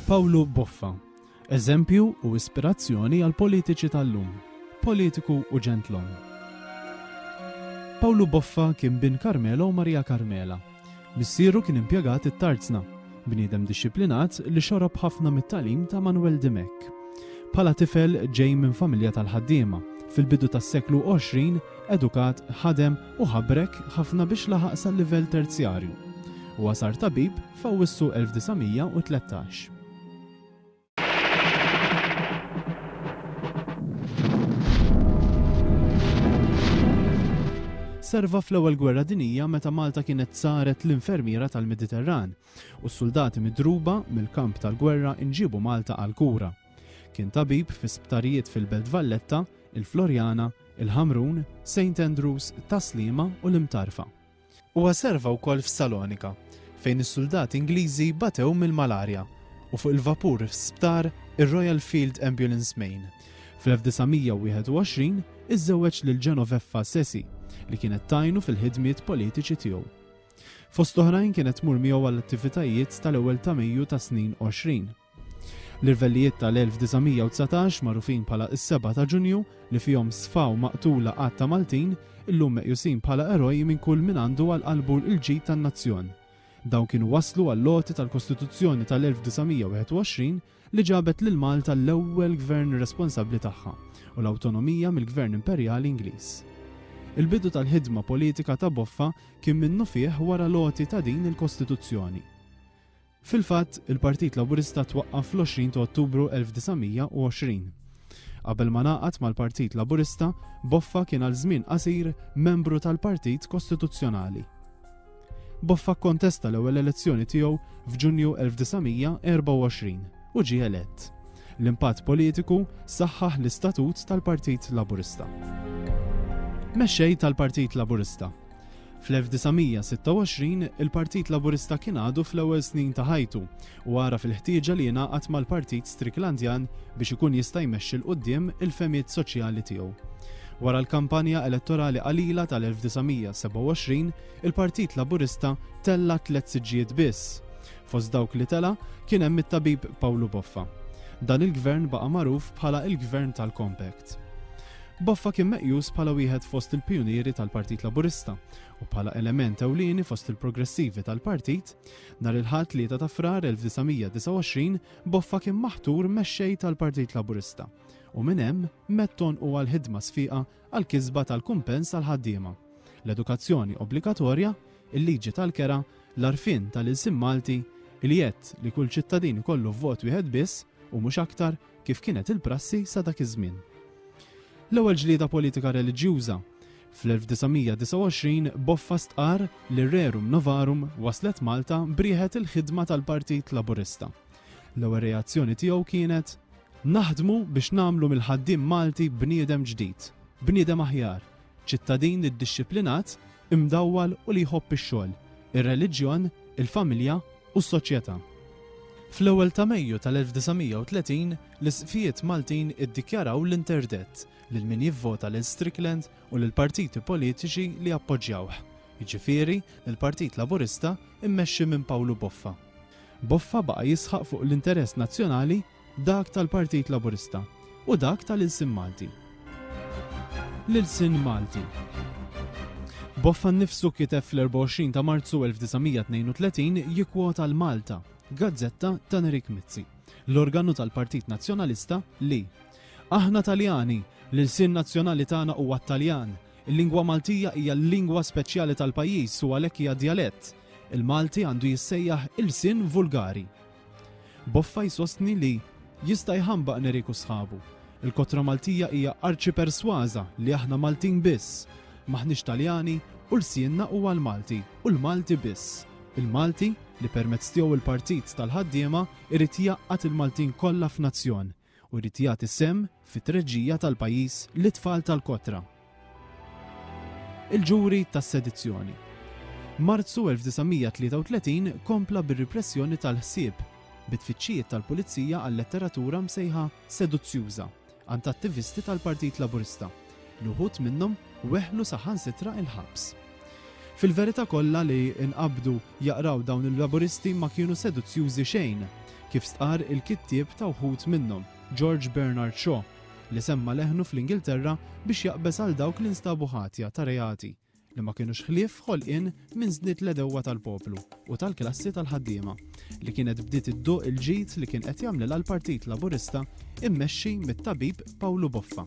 Pawlu Boffa, eżempju u ispirazzjoni għall-politiċi tal-lum, politiku u ġentlom. Pawlu Boffa kien bin Carmelo u Maria Carmela. Missieru kien impjegat it-tarzna, bniedem dixxiplinat li xorob ħafna mit-tagħlim ta' Manwel Dimech. Bħala tifel ġej minn familja tal-ħaddiema, fil-bidu tas-seklu 20 edukat, ħadem u ħabrek ħafna biex laħaq sal-livell terzjarju. Huwa sar tabib f'Awwissu 1913. Serva fl-Ewwel Gwerra Dinjija meta Malta kienet saret l-infermiera tal-Mediterran u s-suldati midruba mill-kamp tal-gwerra nġiebu Malta għall-kura. Kien tabib fi sptarijiet fil-Belt Valletta, il-Floriana, il-Ħamrun, Saint Andrews, Tas-Sliema u l-Imtarfa. Huwa serva wkoll f'Salonika, fejn is-suldati Ingliżi batew mill-malarja, u fuq il-vapur sptar ir-Royal Field Ambulance Main. Fl-1921 iżżewweġ lil Genoveffa Sesi, li kienet tgħinu fil-ħidmiet politiċi tiegħu. Fost oħrajn kienet tmur miegħu għall-attivitajiet tal-ewwel ta' Mejju tas-snin 20. L-irvellijiet tal-1919, magħrufin bħala s-Sebgħa ta' Ġunju, li fihom sfaw maqtula għadd ta' Maltin, illum meqjusin bħala eroj minn kull min għandu għal qalbu l-ġid tan-nazzjon. Dawn kienu wasslu għall-għoti tal-Kostituzzjoni tal-1921 li ġabet lil Malta l-ewwel gvern responsabbli tagħha u l-awtonomija mill-gvern imperjali Ingliż. Il-bidu tal-ħidma politika ta' Boffa kien minnufih wara l-għoti ta' din il-Kostituzzjoni. Fil-fatt, il-Partit Laburista twaqqaf fl-20 ta' Ottubru 1920. Qabel ma ngħaqad mal-Partit Laburista, Boffa kien għal żmien qasir membru tal-Partit Kostituzzjonali. Boffa kkontesta l-ewwel elezzjoni tiegħu f'Ġunju 1924 u ġie elett. L-impatt politiku saħħaħ l-istatut tal-Partit Laburista. Mexxej tal-Partit Laburista. Fl-1926, il-Partit Laburista kien għadu fl-ewwel snin ta' ħajtu u għaraf il-ħtieġa li jingħaqad mal-Partit Stricklandian biex ikun jista' jmexxi 'l quddiem il-fehmiet soċjali tiegħu. Wara l-kampanja elettorali qalila tal-1927, il-Partit Laburista tella' tlett siġġijiet biss. Fost dawk li tela' kien hemm it-tabib Pawlu Boffa. Dan il-gvern baqa' magħruf bħala l-Gvern tal-Compact. Boffa kien meqjus bħala wieħed fost il-pijunieri tal-Partit Laburista u bħala element ewlieni fost il-progressivi tal-partit. Nhar il-Ħadd 3 ta' Frar 1929, Boffa kien maħtur mexxej tal-Partit Laburista u minn hemm medd għonqu għal ħidma sfiqa għall-kisba tal-kumpens għall-ħaddiema, l-edukazzjoni obbligatorja, il-liġi tal-kera, l-għarfien tal-ilsien Malti, il-jedd li kull ċittadin ikollu vot wieħed biss u mhux aktar kif kienet il-prassi sa dak iż-żmien. L-ewwel ġlieda politika reliġjuża. Fl-1929 Boffa stqarr li Rerum Novarum waslet Malta b'rieħet il-ħidma tal-Partit Laburista. L-ewwel reazzjoni tiegħu kienet, Naħdmu biex nagħmlu mill-ħaddiem Malti bniedem ġdid, bniedem aħjar, ċittadin iddixxiplinat, imdawwal u li jħobb ix-xogħol, ir-reliġjon, il-familja u s-soċjetà. Fl-ewwel ta' Mejju tal-1930, l-Isqfijiet Maltin iddikjaraw l-interdett lil min jivvota lil Strickland u lill-partiti politiċi li appoġġjawh, jiġifieri lill-Partit Laburista mmexxi minn Pawlu Boffa. Boffa baqa' jisħaq fuq l-interess nazzjonali, dak tal-Partit Laburista u dak tal-ilsien Malti. L-ilsien Malti. Boffa nnifsu kiteb fl-24 ta' Marzu 1932 jikkwota l-Malta, gazzetta ta' Nerik Mizzi, l-organu tal-Partit Nazzjonalista li Aħna Taljani, l-ilsien nazzjonali tagħna huwa t-Taljan, il-lingwa Maltija hija l-lingwa speċjali tal-pajjiż u għalhekk hija djalett. Il-Malti għandu jissejjaħ ilsien vulgari. Boffa jsostni li Jista' jħambaq Nerik u sħabu. Il-kotra Maltija hija arċipersważa li aħna Maltin biss. M'aħniex Taljani u lsienna huwa l-Malti u l-Malti biss. Il-Malti li permezz tiegħu l-Partit tal-Ħaddiema jrid jgħaqqad il-Maltin kollha f'nazzjon u jrid jagħti sehem fit-treġġija tal-pajjiż lit-tfal tal-kotra. Il-ġuri tas-sedizzjoni. Marzu 1933 kompla bir-ripressjoni tal-ħsieb, bi tfittxijiet tal-pulizija għal letteratura msejħa seduzzjuża għand attivisti tal-Partit Laburista, li wħud minnhom weħlu saħansitra il-ħabs. Fil-verità kollha li nqabdu jaqraw dawn il-Laburisti ma kienu seduzzjużi xejn. kif stqarr il-kittieb ta' wħud minnhom, George Bernard Shaw, li semma' leħnu fl-Ingilterra biex jaqbeż għal dawk li nstabu ħatja ta' reati li ma kinux ħlief ħolqien minn żnied l-għedewwa tal-poplu u tal-klassi tal-ħaddiema, li kienet bdiet idduq il-ġid li kien qed jagħmlilha l-Partit Laburista immexxi mit-tabib Pawlu Boffa.